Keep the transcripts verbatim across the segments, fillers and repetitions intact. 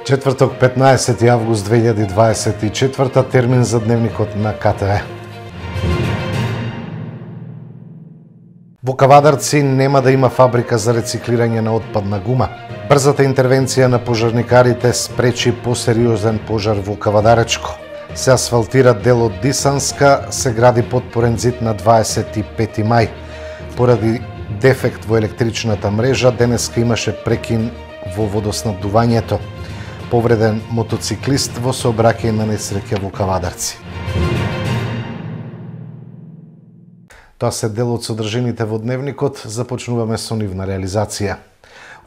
Четврток, петнаесети август две илјади дваесет и четврта, термин за дневникот на К Т В. Во Кавадарци нема да има фабрика за рециклирање на отпадна гума. Брзата интервенција на пожарникарите спречи посериозен пожар во Кавадаречко. Се асфалтира дел од Дисанска, се гради потпорен зид на дваесет и пети мај. Поради дефект во електричната мрежа, денеска имаше прекин во водоснабдувањето. Повреден мотоциклист во сообраќај на несреќа во Кавадарци. Тоа се дел од содржините во дневникот, започнуваме со нивна реализација.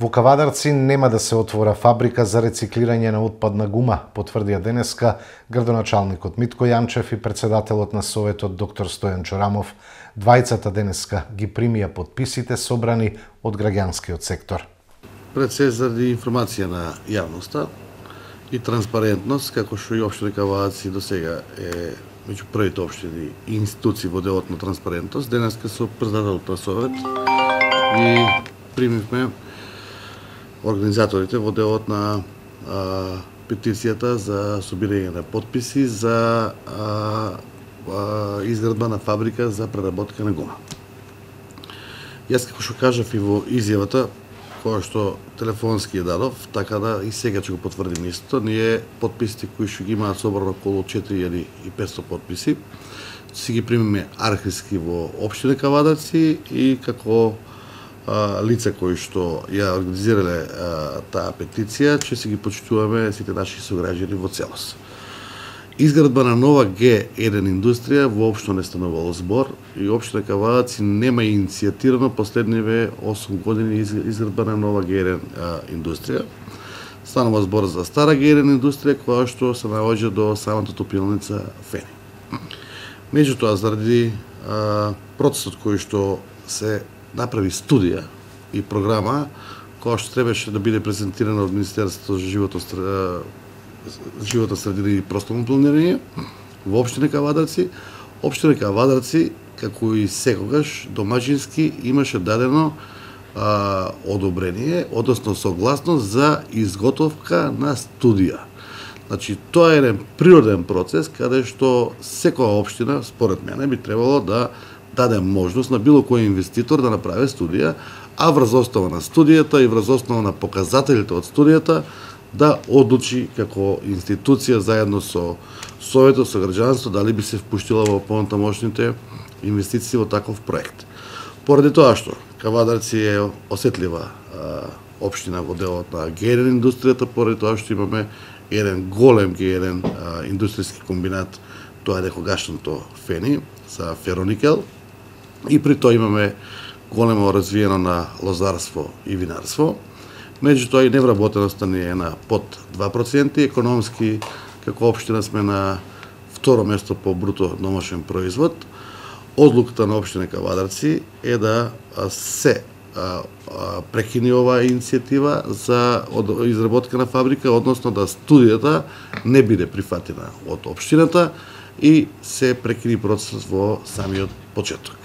Во Кавадарци нема да се отвора фабрика за рециклирање на отпадна гума, потврдија денеска градоначалникот Митко Јанчев и председателот на Советот доктор Стојан Чорамов. Двајцата денеска ги примија потписите собрани од граѓанскиот сектор. Пред се заради информација на јавноста и транспарентност, како што и општина Кавадарци до сега е меѓу првите општини и институции во делот на транспарентност, денеска со председателот на Совет и примивме организаторите во делот на а, петицијата за собирање на потписи за а, а, изградба на фабрика за преработка на гума. Јас како што кажав и во изјавата која што телефонски ја дадов, така да и сега ќе го потврдим истото, ние потписите кои што ги имаат собрано околу четири илјади и петстотини потписи, си ги примиме архивски во општина Кавадарци и како а, лица кои што ја организирале а, таа петиција, ќе си ги почитуваме сите наши сограѓани во целост. Изградба на нова Г еден индустрија воопшто не станувало збор и општина Кавадарци нема иницијатирано последниве осум години изградба на нова Г еден а, индустрија. Станува збор за стара Г еден индустрија која што се наоѓа до самата топилница Фени. Меѓутоа, заради а, процесот кој што се направи студија и програма која што требаше да биде презентирана од Министерството за животот животна средина и просторно планирање во општина Кавадарци, општина Кавадарци, како и секогаш домаќински, имаше дадено а, одобрение, односно согласност за изготовка на студија. Значи, тоа е еден природен процес, каде што секоја општина, според мене, би требало да даде можност на било кој инвеститор да направи студија, а врз основа на студијата и врз основа на показателите од студијата да одлучи како институција заедно со Советот, со граѓанство, дали би се впуштила во понатамошните инвестиции во таков проект. Поради тоа што Кавадарци е осетлива а, општина во делот на Г еден индустријата, поради тоа што имаме еден голем Г еден а, индустријски комбинат, тоа е некогашното Фени, за фероникел, и при тоа имаме големо развиено на лозарство и винарство. Меѓутоа и невработеноста ни е на под два проценти, економски како општина сме на второ место по бруто домашен производ. Одлуката на општина Кавадарци е да се а, а, прекини оваа иницијатива за од, изработка на фабрика, односно да студијата не биде прифатена од општината и се прекини процесот во самиот почеток.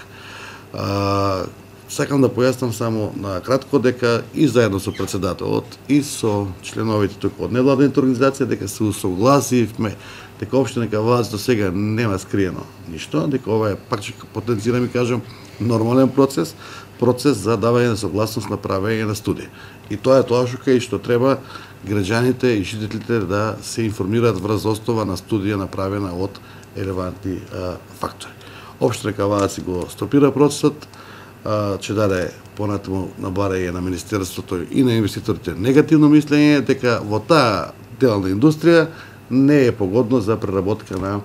А, Сакам да појаснам само на кратко дека и заедно со председателот и со членовите тука од невладените организации дека се усогласивме дека општина Кавадарци до сега нема скриено ништо, дека ова е, пак ќе потенцирам и кажам, нормален процес, процес за давање на согласност на правење на студија. И тоа е тоа што кај што треба граѓаните и жителите да се информираат врз основа на студија направена од релевантни а, фактори. Општина Кавадарци го стопира процесот, ќе даде понатаму на барање на Министерството и на инвеститорите негативно мислење дека во таа дел на индустрија не е погодно за преработка на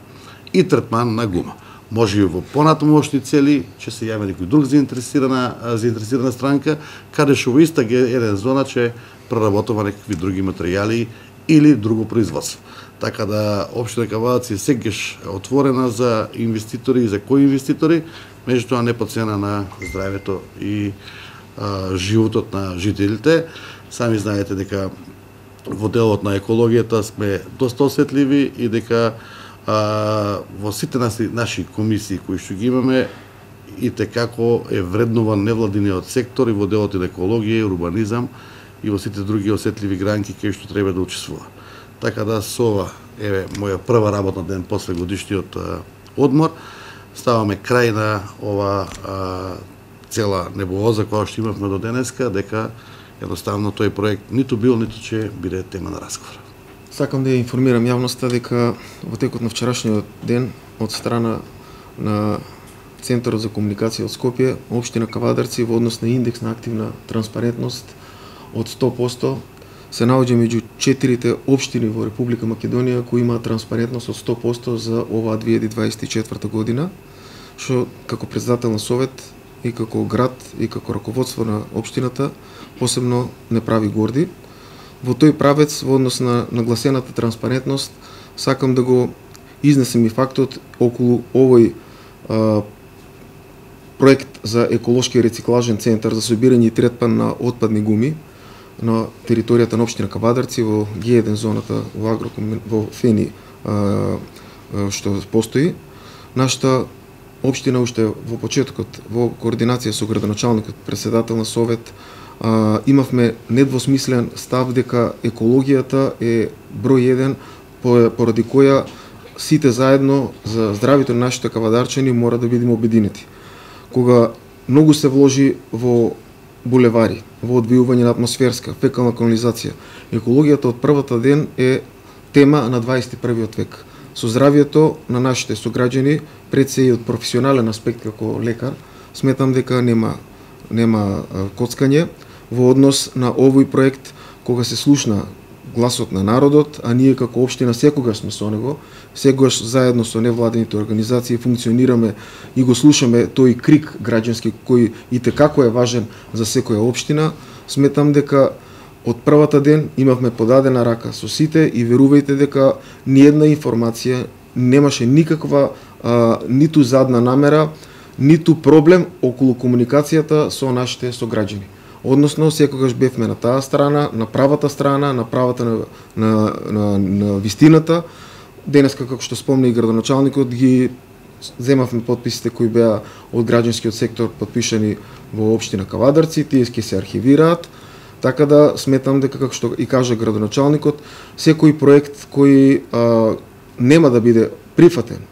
и третман на гума. Може и во понатамошни цели ќе се јави некој друг заинтересирана заинтересирана странка, каде што во иста Г еден зона ќе преработува некакви други материјали или друго производство. Така да општина Кавадарци сегаш отворена за инвеститори и за кои инвеститори, меѓутоа не по цена на здравјето и а, животот на жителите. Сами знаете дека во делот на екологијата сме доста осетливи и дека а, во сите наши, наши комисии кои што ги имаме и текако е вреднуван невладиниот сектор и во делот на екологија и урбанизам и во сите други осетливи гранки кај што треба да учествува. Така да со ова еве моја прва работна ден после годишниот одмор ставаме крај на ова а, цела небулоза која што имавме до денеска, дека едноставно тој проект ниту бил, ниту ќе биде тема на разговор. Сакам да ја информирам јавноста дека во текот на вчерашниот ден од страна на Центарот за комуникација од Скопје, општина Кавадарци во однос на индекс на активна транспарентност од сто проценти се наоѓа меѓу четирите општини во Република Македонија кои имаат транспарентност од сто проценти за оваа две илјади дваесет и четврта година, што како председател на совет и како град и како раководство на општината посебно не прави горди. Во тој правец во однос на нагласената транспарентност сакам да го изнесем и фактот околу овој а, проект за еколошки рециклажен центар за собирање и третман на отпадни гуми на територијата на општина Кавадарци во Г еден зоната во Агроком во Фени а, а, што постои. Нашата општина уште во почетокот во координација со градоначалникот, председател на совет, а, имавме недвосмислен став дека екологијата е број еден поради која сите заедно за здравето на нашите кавадарчани мора да бидеме обединети. Кога многу се вложи во булевари, во одвојување на атмосферска, фекална канализација, екологијата од првата ден е тема на дваесет и првиот век. Со здравието на нашите сограѓани, пред се и од професионален аспект како лекар, сметам дека нема нема коцкање во однос на овој проект кога се слушна гласот на народот, а ние како општина секогаш сме со него, секогаш заедно со невладените организации функционираме и го слушаме тој крик граѓански кој и текако е важен за секоја општина. Сметам дека од првата ден имавме подадена рака со сите и верувајте дека ниедна информација немаше никаква а, ниту задна намера, ниту проблем околу комуникацијата со нашите сограѓани. Односно, секогаш бевме на таа страна, на правата страна, на правата на, на, на, на вистината. Денеска, како што спомна и градоначалникот, ги земавме подписите кои беа од граѓанскиот сектор подпишани во општина Кавадарци, тие ќе се архивираат. Така да сметам дека, како што и кажа градоначалникот, секој проект кој а, нема да биде прифатен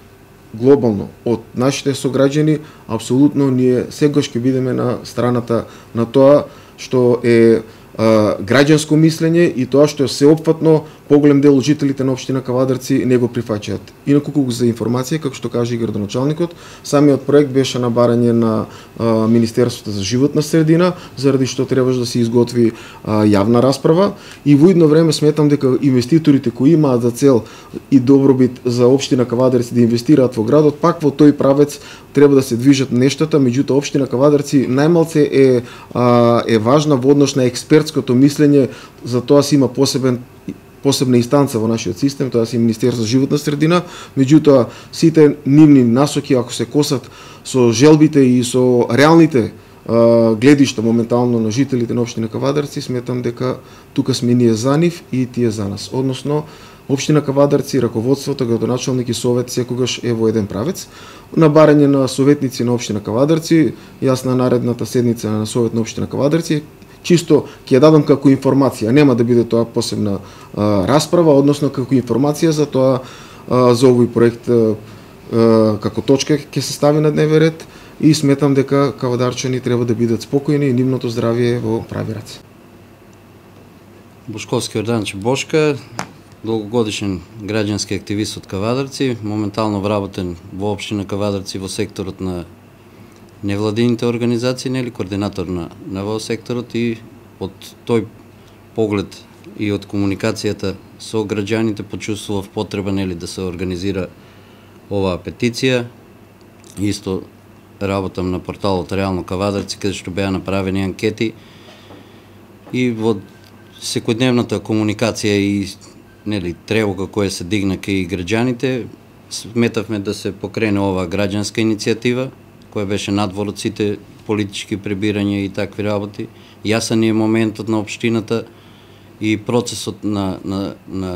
глобално од нашите сограѓани, апсолутно ние секогаш ќе бидеме на страната на тоа што е а, граѓанско мислење и тоа што е сеопфатно поголем дел од жителите на општина Кавадарци не го прифаќаат. Инаку колку за информација, како што каже и градоначалникот, самиот проект беше на барање на а, Министерството за животна средина, заради што требаше да се изготви а, јавна расправа и во идно време сметам дека инвеститорите кои имаат за цел и добробит за општина Кавадарци да инвестираат во градот, пак во тој правец треба да се движат нештата, меѓутоа општина Кавадарци најмалце е а, е важна во однос на експертското мислење, за тоа си има посебен посебна инстанца во нашиот систем, тоа си Министерство за животна средина, меѓутоа сите нивни насоки ако се косат со желбите и со реалните а, гледишта моментално на жителите на општина Кавадарци, сметам дека тука сме ние за нив и тие за нас. Односно, општина Кавадарци, раководството, градоначалник и совет секогаш е во еден правец. На барање на советници на општина Кавадарци, јас на наредната седница на совет на општина Кавадарци чисто ќе ја дадам како информација, нема да биде тоа посебна а, расправа, односно како информација за тоа а, за овој проект а, а, како точка ќе се стави на дневен ред и сметам дека кавадарчани треба да бидат спокојни и нивното здравје во прави раце. Бошковски Јорданче Бошка, долгогодишен граѓански активист од Кавадарци, моментално вработен во општина Кавадарци во секторот на невладините организации, нели, координатор на, на во секторот и од тој поглед и од комуникацијата со граѓаните почувствував потреба, нели, да се организира оваа петиција. Исто работам на порталот Реално Кавадарци, каде што беа направени анкети и во секојдневната комуникација и, нели, тревога која се дигна кај граѓаните, сметавме да се покрене оваа граѓанска иницијатива, која беше надвор од сите политички пребирања и такви работи. Јасен е моментот на општината и процесот на, на, на,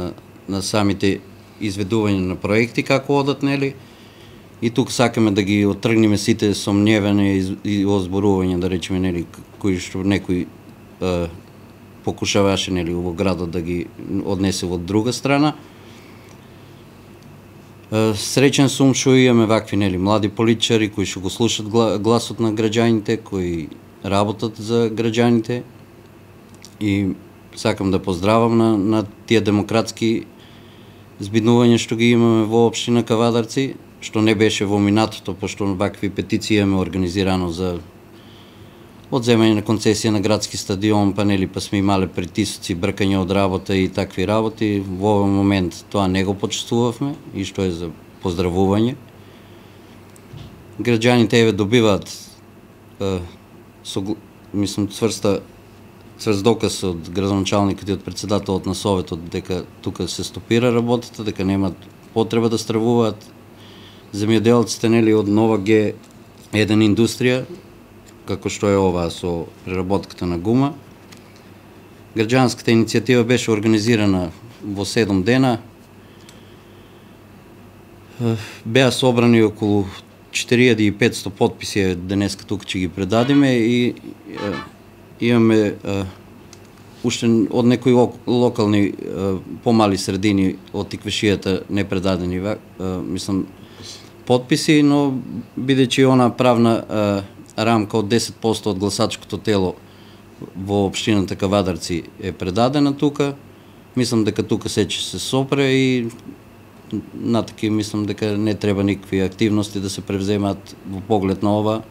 на самите изведување на проекти, како одат, нели? И тук сакаме да ги оттргнеме сите сомневања и озборувања, да речеме, нели, кои што некои е, покушаваше нели во градот да ги однесе во друга страна. Среќен сум што имаме вакви нели млади политичари кои што го слушат гласот на граѓаните, кои работат за граѓаните, и сакам да поздравам на, на тие демократски збиднувања што ги имаме во општина Кавадарци, што не беше во минатото, пошто вакви петиции имаме организирано за одземање на концесија на градски стадион, па нели па сме имале притисоци, бркање од работа и такви работи. Во овој момент тоа не го почувствувавме и што е за поздравување. Граѓаните еве добиваат е, со, мислам цврста цврст доказ од градоначалникот и од председателот на советот дека тука се стопира работата, дека немаат потреба да стравуваат земјоделците нели од нова Г еден индустрија, како што е ова со преработката на гума. Граѓанската иницијатива беше организирана во седум дена. Беа собрани околу четири илјади и петсто потписи, денеска тука ќе ги предадиме, и имаме уште од некои локални помали средини од Тиквешијата непредадени, мислам, потписи, но бидејќи она правна рамка од десет проценти од гласачкото тело во општината Кавадарци е предадена тука, мислам дека тука се ќе се сопре и натаки мислам дека не треба никакви активности да се превземаат во поглед на ова.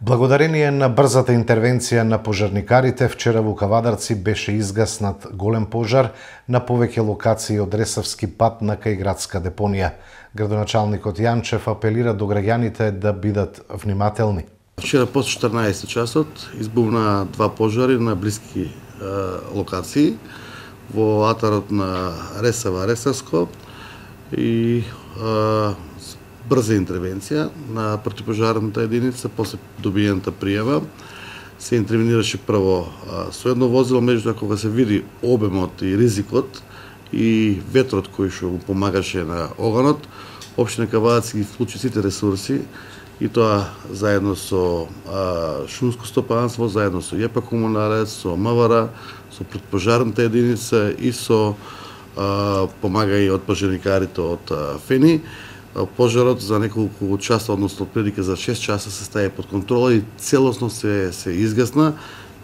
Благодарение на брзата интервенција на пожарникарите, вчера во Кавадарци беше изгаснат голем пожар на повеќе локации од Ресавски пат на кај градска депонија. Градоначалникот Јанчев апелира до граѓаните да бидат внимателни. Вчера после четрнаесет часот избувна два пожари на блиски е, локации во атарот на Ресава Ресавско и е, брза интервенција на противпожарната единица после добиената пријава. Се интервенираше прво а, со едно возило, меѓутоа кога се види обемот и ризикот и ветрот кој што го помагаше на оганот, општина Кавадарци ги вклучи сите ресурси, и тоа заедно со а, шумско стопанство, заедно со ЈП Комунарец, со МВР, со противпожарната единица и со а, помага и од пожарникарите од а, ФЕНИ. Пожарот за неколку часа, односно прилика за шест часа, се стави под контрола и целосно се се изгасна.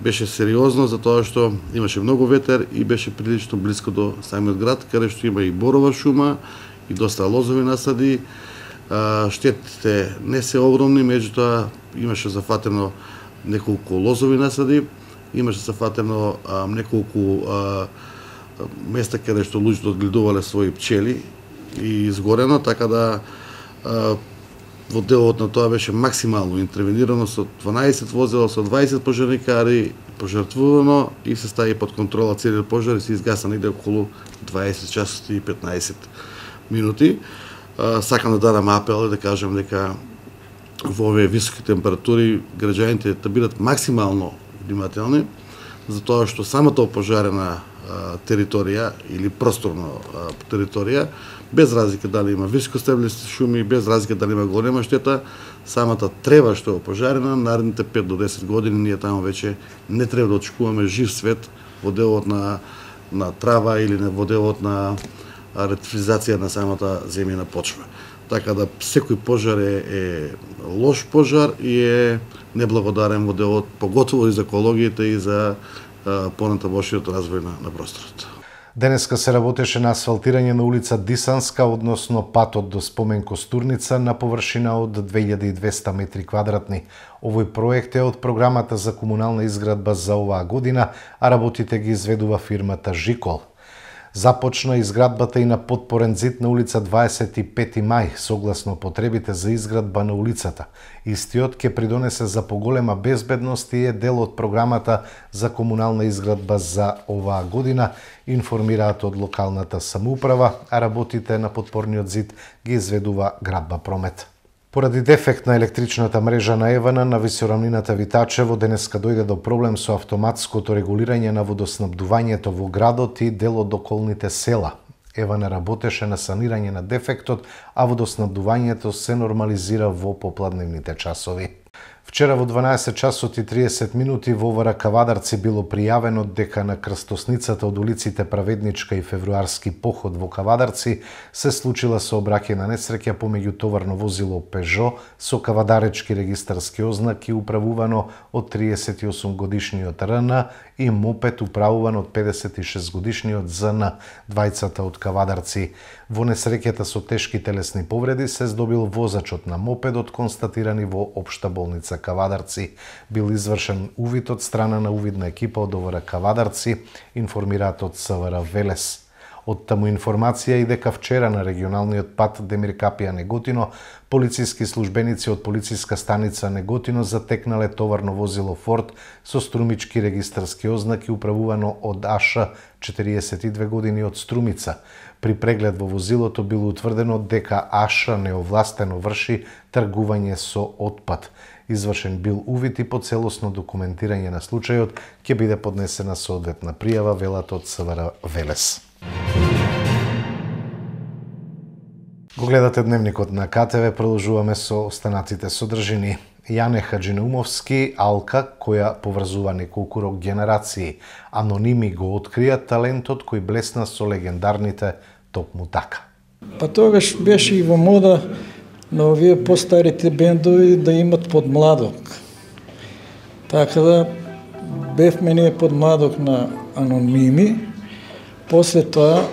Беше сериозно затоа што имаше многу ветер и беше прилично близко до самиот град, каде што има и борова шума и доста лозови насади. Штетите не се огромни, меѓутоа имаше зафатено неколку лозови насади, имаше зафатено а, неколку а, места каде што луѓето одгледувале своји пчели и изгорено, така да а, во делот на тоа беше максимално интервенирано со дванаесет возила, со дваесет пожарникари, пожртвувано и се стави под контрола целиот пожар и се изгаса негде околу дваесет часот и петнаесет минути. А, сакам да дадам апел и да кажам дека во овие високи температури граѓаните да бидат максимално внимателни, затоа што самата опожарена територија или просторно територија, без разлика дали има високостеблисти шуми, без разлика дали има голема штета, самата трева што е опожарена, наредните пет до десет години ние таму веќе не треба да очекуваме жив свет во делот на, на трава или во делот на ретифизација на самата земјена почва. Така да секој пожар е, е лош пожар и е неблагодарен во делот, поготово и за екологијата и за понатамошниот развој на, на просторот. Денеска се работеше на асфалтирање на улица Дисанска, односно патот до спомен Костурница на површина од две илјади и двесте метри квадратни. Овој проект е од програмата за комунална изградба за оваа година, а работите ги изведува фирмата Жикол. Започна изградбата и на подпорен зид на улица дваесет и пети мај, согласно потребите за изградба на улицата. Истиот ќе придонесе за поголема безбедност и е дел од програмата за комунална изградба за оваа година, информираат од локалната самоуправа, а работите на подпорниот зид ги изведува Градба Промет. Поради дефект на електричната мрежа на Евана на висорамнината Витачево, денеска дојде до проблем со автоматското регулирање на водоснабдувањето во градот и дел од околните села. Евана работеше на санирање на дефектот, а водоснабдувањето се нормализира во попладневните часови. Вчера во дванаесет часот и триесет минути во ОВР Кавадарци било пријавено дека на крстосницата од улиците Праведничка и Февруарски поход во Кавадарци се случила сообраќајна несреќа помеѓу товарно возило Пежо со кавадаречки регистарски ознаки управувано од триесет и осум годишниот Р Н и мопед управуван од педесет и шест годишниот З Н, двајцата од Кавадарци. Во несреќата со тешки телесни повреди се здобил возачот на мопедот, констатирани во Општа болница Кавадарци. Бил извршен увид од страна на увидна екипа од ОВР Кавадарци, информираат од С В Р Велес. Од таму информација и дека вчера на регионалниот пат Демир Капија Неготино, полициски службеници од полициска станица Неготино затекнале товарно возило Форд со струмички регистарски ознаки управувано од А Ш, четириесет и две години од Струмица. При преглед во возилото било утврдено дека А Ш неовластено врши тргување со отпад. Извршен бил увид и по целосно документирање на случајот ќе биде поднесена соодветна пријава, велат од С В Р Велес. Го гледате дневникот на К Т В, продолжуваме со останатите содржини. Јане Хаджинаумовски, Алка, која поврзува неколку рок генерации. Аноними го открија талентот кој блесна со легендарните Токму така. Па тогаш беше и во мода на овие постарите бендови да имат подмладок. Така да бевме ние подмладок на Аноними. После тоа,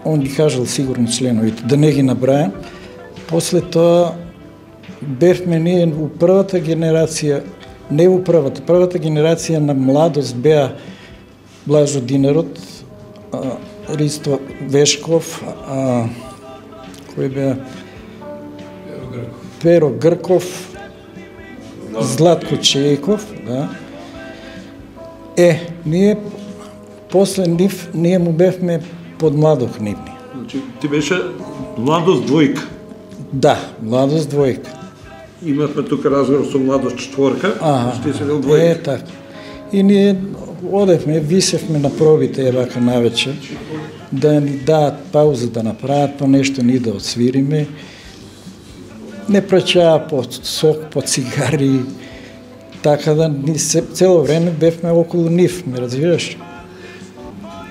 он ги кажал сигурно членовите, да не ги набрајам, после тоа бевме ние у првата генерација, не у првата, првата генерација на младост беа Блажо Динарот, Ристо Вешков, а, кој беа Перо Грков, Златко Чејков, да. Е, ние после нив, ние му бевме подмладок нивни. Значи, ти беше младост двојка? Да, младост двојка. Имавме тука разговор со младост четворка, што ти се бил двојка. Е, така. И ние одевме, висевме на пробите, вака навечер, да ни дадат пауза да направат, па нешто ни да отсвириме. Не праќаа по сок, по цигари, така да ни се, цело време бевме околу нив, ме разбираш?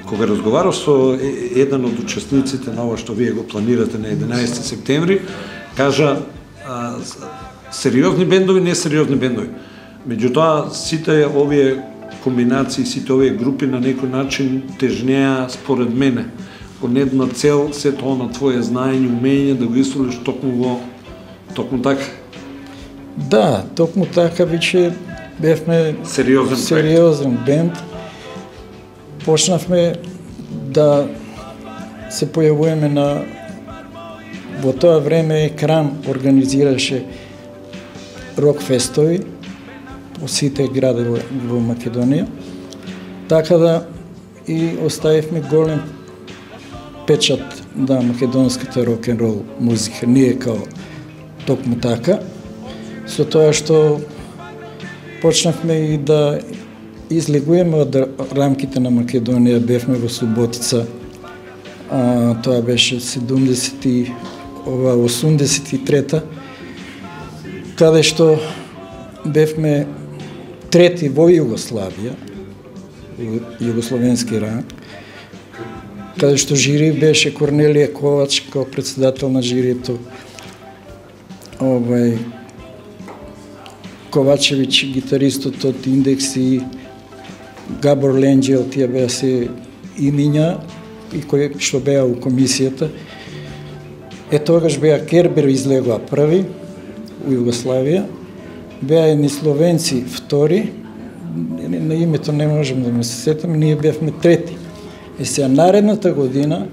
Кога разговарав со еден од учесниците на ова што вие го планирате на единаесети септември, кажа а, сериозни бендови, не сериозни бендови. Меѓутоа, сите овие комбинации, сите овие групи на некој начин тежнеа според мене кон една цел, се тоа на твое знаење, умење да го исолиш токму во токму така. Да, токму така веќе бевме сериозен, сериозен бенд. Почнавме да се појавуваме на... Во тоа време Екран организираше рок-фестови по сите градови во Македонија. Така да и оставивме голем печат на македонската рок-н-рол музика. Ние као токму така. Со тоа што почнавме и да излегуваме од рамките на Македонија, бевме во Суботица, а, тоа беше седумдесет и осумдесет и трета, каде што бевме трети во Југославија, југословенски ранг, каде што жири беше Корнелија Ковач као председател на жирито, овај Ковачевич, гитаристот од Индекс и Габор Ленџел, тие беа се имиња и кои што беа у комисијата. Е тогаш беа Кербер излегоа први у Југославија, беа едни словенци втори, на името не можем да ме се сетам, ние бевме трети. Е сега наредната година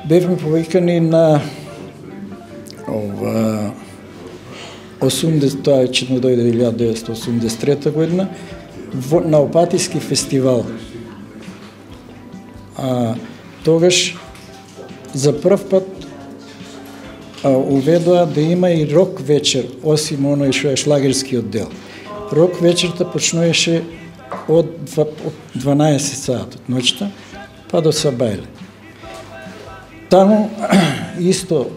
бевме повикани на ова осумдесет, тоа е че дојде илјада деветстотини осумдесет и трета година, во, на Опатиски фестивал. А, тогаш за прв пат а, уведоа да има и рок вечер, осим оној што е шлагерскиот дел. Рок вечерта почнуваше од дванаесет саат од ноќта па до Сабајле. Таму исто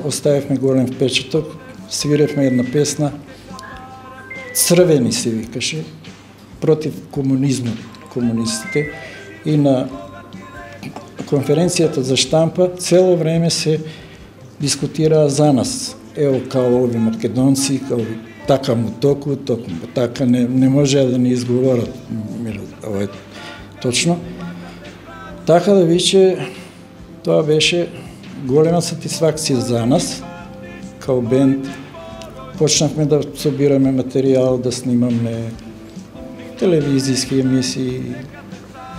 оставивме голем впечаток, свиревме една песна црвени се викаше, против комунизмот, комунистите, и на конференцијата за штампа цело време се дискутираа за нас. Ево, као ови македонци, као така му току, току му така, не, не може да ни изговорат, ова е точно. Така да више, тоа беше голема сатисфакција за нас, као бенд. Почнахме да собираме материјал, да снимаме телевизијски емисии,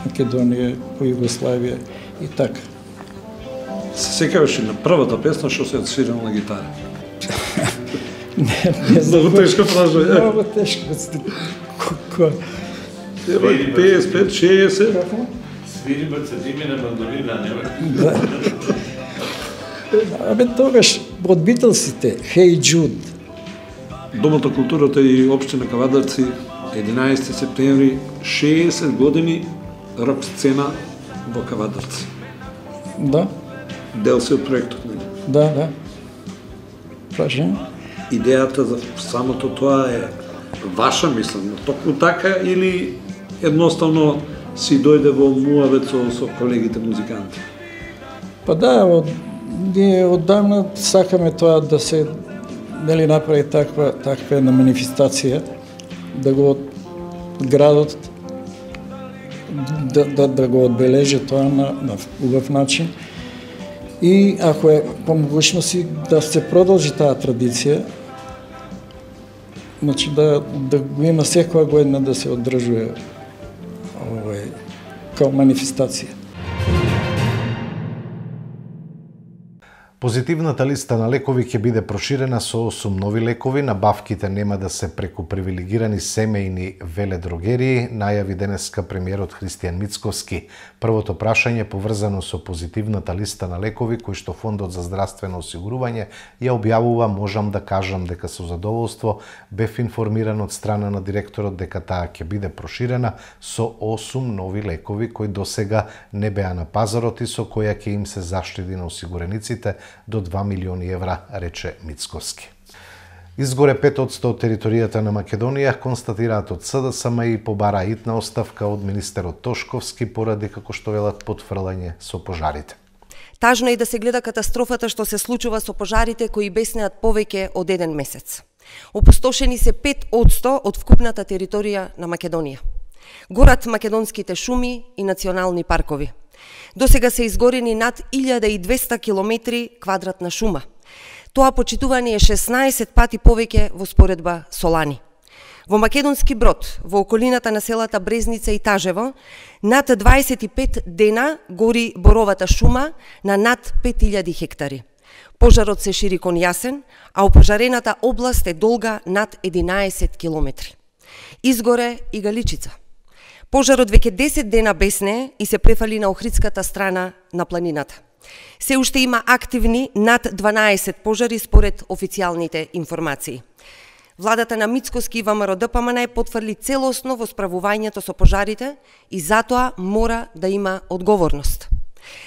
Македонија, по Југославија и така. Се секаваш и на првата песна што се отсвирала на гитара? Не, не знам. Много тешко прашање. Много тешко. Кој? Ева, петдесет пет шеесет. Свири бацетими на мандолина, нема? Да. Абе, тогаш, од Битълсите, Hey Jude. Домот на културата и општина Кавадарци, единаесети септември, шеесет години рок сцена во Кавадарци. Да, Дел се од проектот, нели? да, да. Прашање? Идејата за самото тоа е ваша, мислам, токму така, или едноставно си дојде во муавет со, со колегите музиканти? Па да, од, ние оддавна сакаме тоа да се нели направи таква таква една манифестација, да го градот да, да, да го одбележи тоа на, на убав начин. И ако е по могушност да се продолжи таа традиција, значи да, да го има секоја година да се одржува овој као манифестација. Позитивната листа на лекови ќе биде проширена со осум нови лекови, набавките нема да се преку привилегирани семејни веледрогерии, најави денеска премиерот Христијан Мицковски. Првото прашање поврзано со позитивната листа на лекови кои што Фондот за здравствено осигурување ја објавува, можам да кажам дека со задоволство бев информиран од страна на директорот дека таа ќе биде проширена со осум нови лекови кои досега не беа на пазарот и со која ќе им се заштеди на осигурениците до два милиони евра, рече Мицковски. Изгоре пет одсто од територијата на Македонија констатираат од СДСМ и побара итна оставка од министерот Тошковски поради, како што велат, потфрлање со пожарите. Тажно е да се гледа катастрофата што се случува со пожарите кои беснеат повеќе од еден месец. Опустошени се пет одсто од вкупната територија на Македонија. Горат македонските шуми и национални паркови. Досега се изгорени над илјада и двесте километри квадратна шума. Тоа почитување е шеснаесет пати повеќе во споредба со лани. Во Македонски Брод, во околината на селата Брезница и Тажево, над дваесет и пет дена гори боровата шума на над пет илјади хектари. Пожарот се шири кон јасен, а опожарената област е долга над единаесет километри. Изгоре и Галичица. Пожарот веќе десет дена бесне и се префали на Охридската страна на планината. Се уште има активни над дванаесет пожари според официјалните информации. Владата на Мицковски и ВМРО-ДПМН потврди целосно во справувањето со пожарите и затоа мора да има одговорност.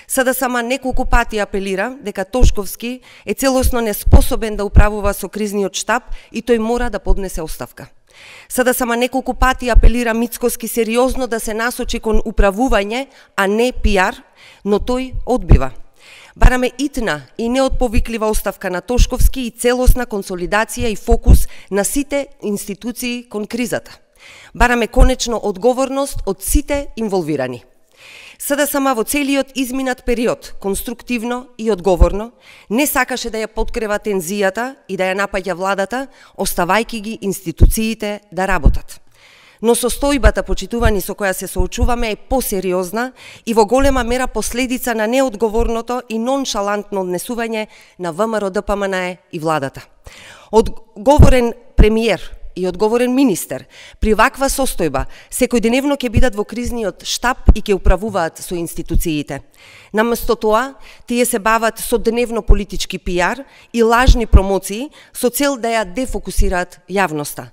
СДСМ неколку пати апелира дека Тошковски е целосно неспособен да управува со кризниот штаб и тој мора да поднесе оставка. СДСМ неколку пати апелира Мицковски сериозно да се насочи кон управување, а не пиар, но тој одбива. Бараме итна и неотповиклива оставка на Тошковски и целосна консолидација и фокус на сите институции кон кризата. Бараме конечно одговорност од сите инволвирани. СДСМ во целиот изминат период, конструктивно и одговорно, не сакаше да ја подкрива тензијата и да ја напаѓа владата, оставајќи ги институциите да работат. Но состојбата, почитувани, со која се соочуваме е посериозна и во голема мера последица на неодговорното и ноншалантно однесување на ВМРО-ДПМН и владата. Одговорен премиер и одговорен министер при ваква состојба секојдневно ќе бидат во кризниот штаб и ќе управуваат со институциите. Наместо тоа, тие се бават со дневно политички пиар и лажни промоции со цел да ја дефокусираат јавноста.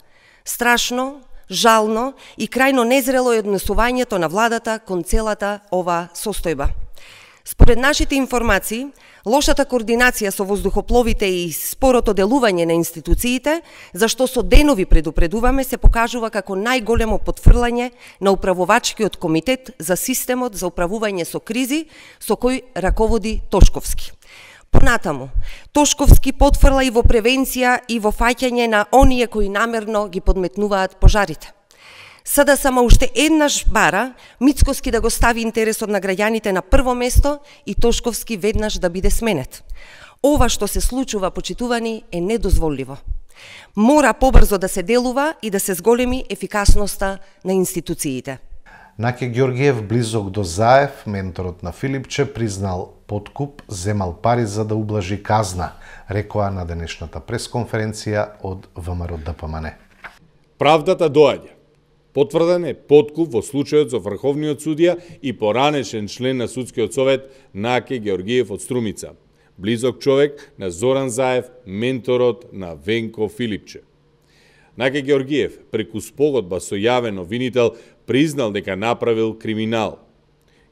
Страшно, жално и крајно незрело е однесувањето на владата кон целата ова состојба. Според нашите информации, лошата координација со воздухопловите и спорото делување на институциите, зашто со денови предупредуваме, се покажува како најголемо потфрлање на управувачкиот комитет за системот за управување со кризи, со кој раководи Тошковски. Понатаму, Тошковски потфрла и во превенција и во фаќање на оние кои намерно ги подметнуваат пожарите. Сада само уште еднаш бара Мицкоски да го стави интересот на граѓаните на прво место и Тошковски веднаш да биде сменет. Ова што се случува, почитувани, е недозволиво. Мора побрзо да се делува и да се зголеми ефикасноста на институциите. Наке Георгиев, близок до Заев, менторот на Филипче, признал подкуп, земал пари за да ублажи казна, рекоа на денешната пресконференција од ВМРО Д П М Н. Правдата доаѓа. Потврден е подкуп во случајот со врховниот судија и поранешен член на судскиот совет Наке Георгиев од Струмица, близок човек на Зоран Заев, менторот на Венко Филипче. Наке Георгиев, преку спогодба со јавен обвинител, признал дека направил криминал.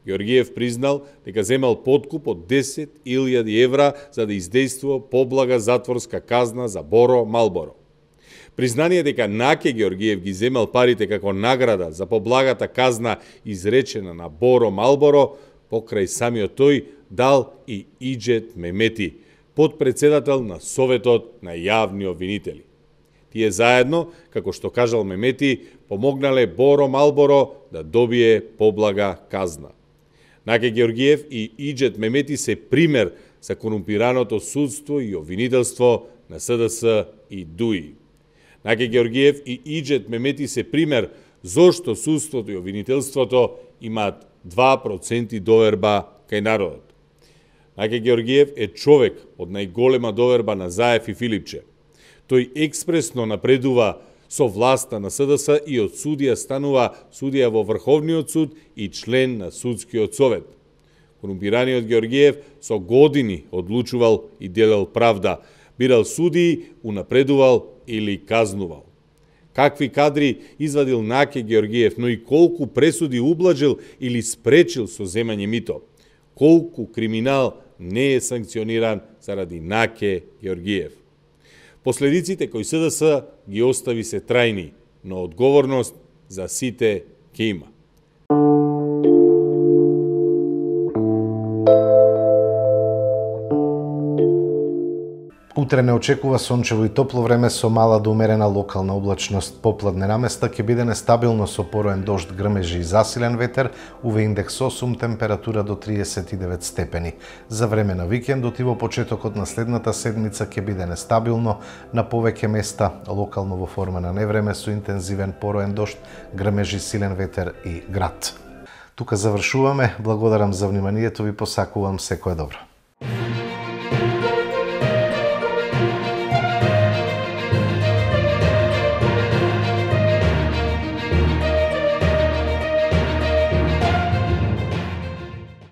Георгиев признал дека земал подкуп од десет илјади евра за да издействува поблага затворска казна за Боро Малборо. Признание дека Наке Георгиев ги земал парите како награда за поблагата казна изречена на Боро Малборо, покрај самиот тој дал и Иџет Мемети, подпредседател на Советот на јавни обвинители. Тие заедно, како што кажал Мемети, помогнале Боро Малборо да добие поблага казна. Наке Георгиев и Иџет Мемети се пример за корумпираното судство и обвинителство на С Д С и Д У И. Наке Георгиев и Иџет Мемети се пример зошто судството и обвинителството имаат два проценти доверба кај народот. Наке Георгиев е човек од најголема доверба на Заев и Филипче. Тој експресно напредува со власта на С Д С и од судија станува судија во Врховниот суд и член на судскиот совет. Корумпираниот Георгиев со години одлучувал и делел правда, бирал судии, унапредувал или казнувал. Какви кадри извадил Наке Георгиев, но и колку пресуди ублажил или спречил со земање мито. Колку криминал не е санкциониран заради Наке Георгиев. Последиците кои С Д С ги остави се трајни, но одговорност за сите ќе има. Утре не очекува сончево и топло време со мала до умерена локална облачност. Попладне наместа ќе биде нестабилно со пороен дожд, грмежи и засилен ветер, У В индекс осум, температура до триесет и девет степени. За време на викендот и во почетокот на следната седмица ќе биде нестабилно на повеќе места, локално во форма на невреме со интензивен пороен дожд, грмежи, силен ветер и град. Тука завршуваме. Благодарам за вниманието, ви посакувам секое добро.